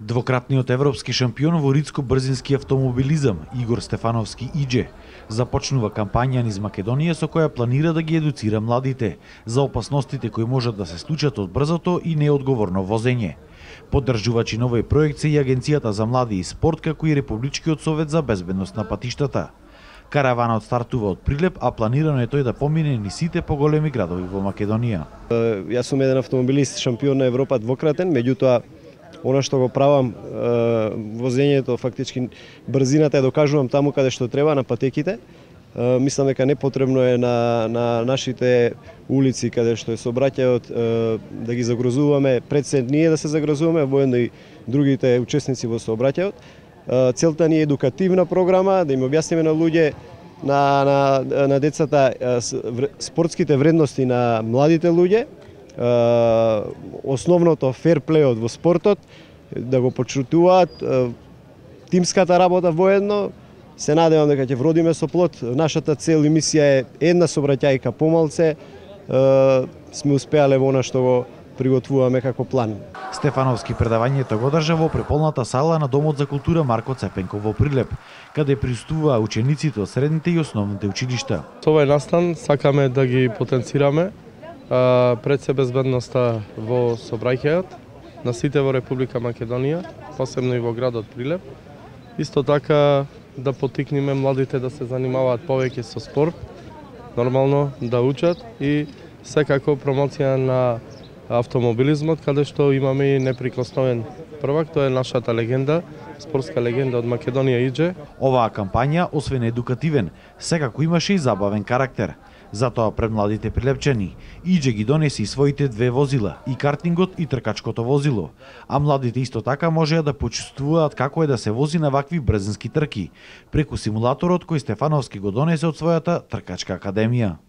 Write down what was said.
Двократниот европски шампион во ридско-брзински автомобилизам Игор Стефановски Идже започнува кампања низ Македонија со која планира да ги едуцира младите за опасностите кои можат да се случат од брзото и неодговорно возење. Поддржувачи на овој проект се и Агенцијата за млади и спорт, како и Републичкиот совет за безбедност на патиштата. Караванот стартува од Прилеп, а планирано е тој да помине низ сите поголеми градови во Македонија. Јас сум еден автомобилист, шампион на Европа двократен, меѓутоа она што го правам, возењето, фактички брзината ја докажувам таму каде што треба, на патеките. Мислам дека непотребно е на нашите улици каде што е сообраќајот да ги загрозуваме, пред се ние да се загрозуваме, воедно и другите учесници во сообраќајот. Целта ни е едукативна програма, да им објасниме на луѓе, на децата спортските вредности на младите луѓе, основното ферплејот во спортот, да го почитуваат, тимската работа воедно. Се надевам дека ќе вродиме со плод. Нашата цел и мисија е една сообраќајка помалце. Сме успеале во она што го приготвуваме како план. Стефановски предавањето го држа во преполната сала на Домот за култура Марко Цепенков во Прилеп, каде присуствуваа учениците од средните и основните училишта. Со овој настан сакаме да ги потенцираме пред се безбедноста во сообраќајот на сите во Република Македонија, посебно и во градот Прилеп. Исто така да поттикнеме младите да се занимаваат повеќе со спорт, нормално да учат и секако промоција на автомобилизмот, каде што имаме и неприкосновен првак, тоа е нашата легенда, спортска легенда од Македонија Идже. Оваа кампања, освен едукативен, секако имаше и забавен карактер. Затоа пред младите прилепчани, Идже ги донеси и своите две возила, и картингот и тркачкото возило, а младите исто така можеа да почувствуваат како е да се вози на вакви брзински трки, преку симулаторот кој Стефановски го донесе од својата тркачка академија.